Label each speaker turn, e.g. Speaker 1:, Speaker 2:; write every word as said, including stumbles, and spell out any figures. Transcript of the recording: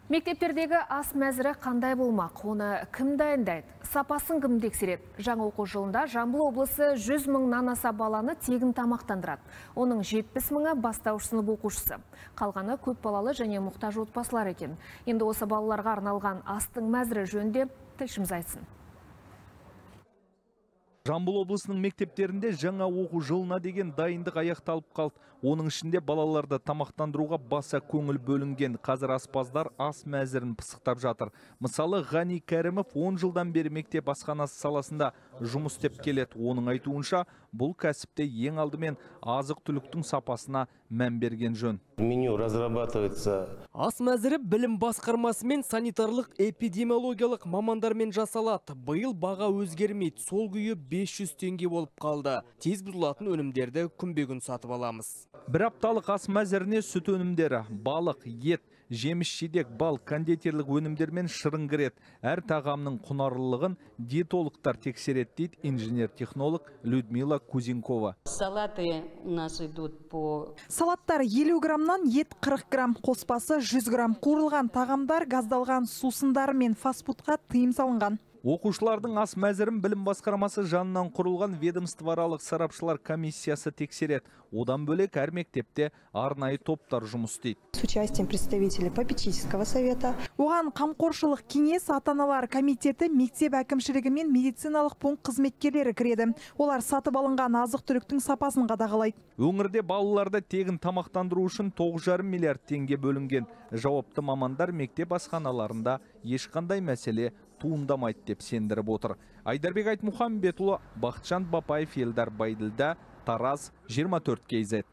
Speaker 1: Мектептердегі ас мәзірі қандай болмақ? Оны кім дайындайды? Сапасын кім тексереді? Жаңа оқу жылында Жамбыл облысы жүз мыңнан аса баланы тегін тамақтандырады. Оның жетпіс мыңы бастауыш сынып оқушысы. Қалғаны көп балалы және мұқтаж отбасылар екен. Енді осы балаларға арналған астың мәзірі жөнінде тілшіміз айтсын.
Speaker 2: Жамбыл облысының мектептерінде жаңа оқу жылына деген дайындық аяқталып қалды. Оның ішінде балаларды тамақтандыруға баса көңіл бөлінген. Қазір аспаздар ас мәзірін пысықтап жатыр. Мысалы, Ғани Кәрімов он жылдан бері мектеп асханасы саласында жұмыс істеп келеді. Оның айтуынша, бұл кәсіпте ең алдымен азық-түліктің сапасына мән берген жөн.
Speaker 3: Меню разрабатывается.
Speaker 4: Ас мәзірі білім басқармасы мен санитарлық эпидемиологиялық мамандармен жасалады. Биыл баға өзгермейді. Сол күйі бес жүз теңге болып қалды. Тез бұзылатын өнімдерді күнбе-күн сатып аламыз.
Speaker 2: Бір апталық ас мәзіріне сүт өнімдері, балық, ет, жеміс-жидек, бал, кондитерлік өнімдер мен шырын кіреді. Әр тағамның құнарлылығын диетологтар тексереді дейді инженер-технолог Людмила Кузенкова.
Speaker 5: Салаты у нас идут по...
Speaker 6: Салаттар елу граммнан, ет қырық грамм, қоспасы жүз грамм. Қуырылған тағамдар газдалған сусындар мен фастфудқа тыйым салынған.
Speaker 2: Оқушылардың ас мәзірін білім басқармасы жанынан құрылған ведомствоаралық сарапшылар комиссиясы тексереді. Одан бөлек әр мектепте арнайы топтар жұмыс істейді.
Speaker 7: С участием представителей попечительского совета.
Speaker 6: Оған қамқоршылық кеңес, ата-аналар комитеті, мектеп әкімшілігі мен медициналық пункт қызметкерлері кіреді. Олар сатып алынған азық-түліктің сапасын қадағалайды.
Speaker 2: Өңірде балаларды тегін тамақтандыру үшін тоғыз жарым миллиард теңге бөлінген. Жауапты мамандар мектеп асханаларында ешқандай мәселе туындамайды деп сендіріп отыр. Айдарбек Айтмұхамбетұлы, Бақытжан Бапаев, Елдар Байділда, Тараз, жиырма төрт кей зет.